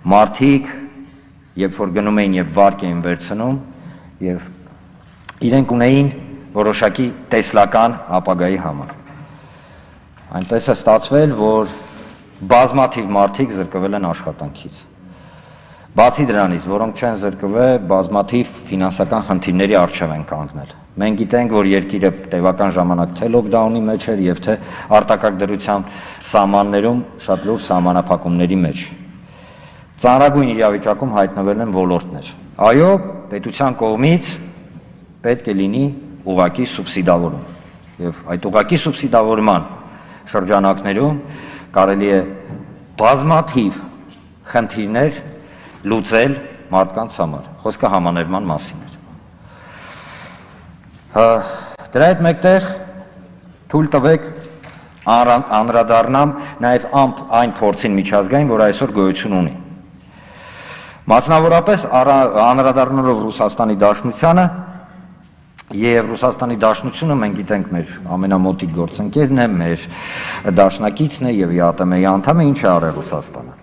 մարդիկ, երբ որ գնում էին եւ վարկ էին վերցնում, եւ իրենք ունեին որոշակի տեսլական ապագայի համար։ Այնպես է ստացվել, որ բազմաթիվ մարդիկ զրկվել են աշխատանքից։ Բացի դրանից, որոնք չեն զրկվել, բազմաթիվ ֆինանսական խնդիրների առջև են կանգնել։ Մենք գիտենք, որ երկիրը տևական ժամանակ թե լոկդաունի մեջ էր եւ թե արտակարգ դրության սահմաններում շատ լուրջ սահմանափակումների մեջ։ Ծանրագույն իրավիճակում հայտնվել են ոլորտներ։ Այո, պետության կողմից պետք է լինի ուղղակի սուբսիդավորում։ Եվ այդ ուղղակի սուբսիդավորման շրջանակներում կարելի է բազմաթիվ խնդիրներ լուծել մարդկանց համար։ Խոսքը համաներման մասին էր։ Դրա հետ մեկտեղ թույլ տվեք անդրադառնամ նաև այն փորձին միջազգային, որ այսօր գոյություն ունի։ Մասնավորապես անդրադառնալով Ռուսաստանի Դաշնությանը եւ Ռուսաստանի Դաշնությունը մենք գիտենք մեր ամենամոտիկ գործընկերն է, մեր դաշնակիցն է եւ ԵԱՏՄ-ի անդամ է, ինչ է արել Ռուսաստանը։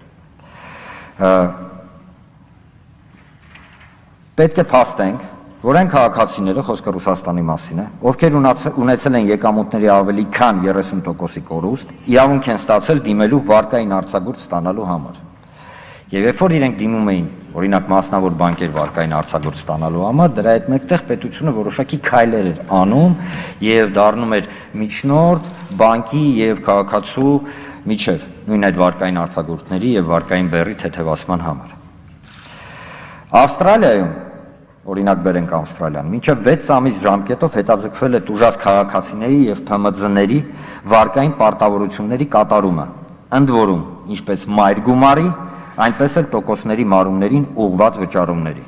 Պետք է փաստենք, որ այն քաղաքացիները, խոսքը Ռուսաստանի մասին է, ովքեր ունեցել են եկամուտների ավելի քան 30%-ի կորուստ, իրավունք են ստացել դիմելու վարկային արձակուրդ ստանալու համար։ Եվ երբ որ իրենք դիմում էին, օրինակ մասնավոր բանկեր վարկային արձակուրդ ստանալու համար, դրա հետ մեկտեղ պետությունը որոշակի քայլեր էր անում եւ դառնում էր միջնորդ բանկի եւ քաղաքացու միջև, նույն այդ վարկային արձակուրդների եւ վարկային բեռի թեթևացման համար։ Ավստրալիայում, օրինակ բերենք Ավստրալիան, մինչև 6 ամիս ժամկետով հետաձգվել է տուժած քաղաքացիների եւ ՓՄԶ-ների վարկային պարտավորությունների կատարումը, ընդ որում, ինչպես մայր գումարի, այնպես էլ տոկոսների մարումներին ուղղված վճարումների։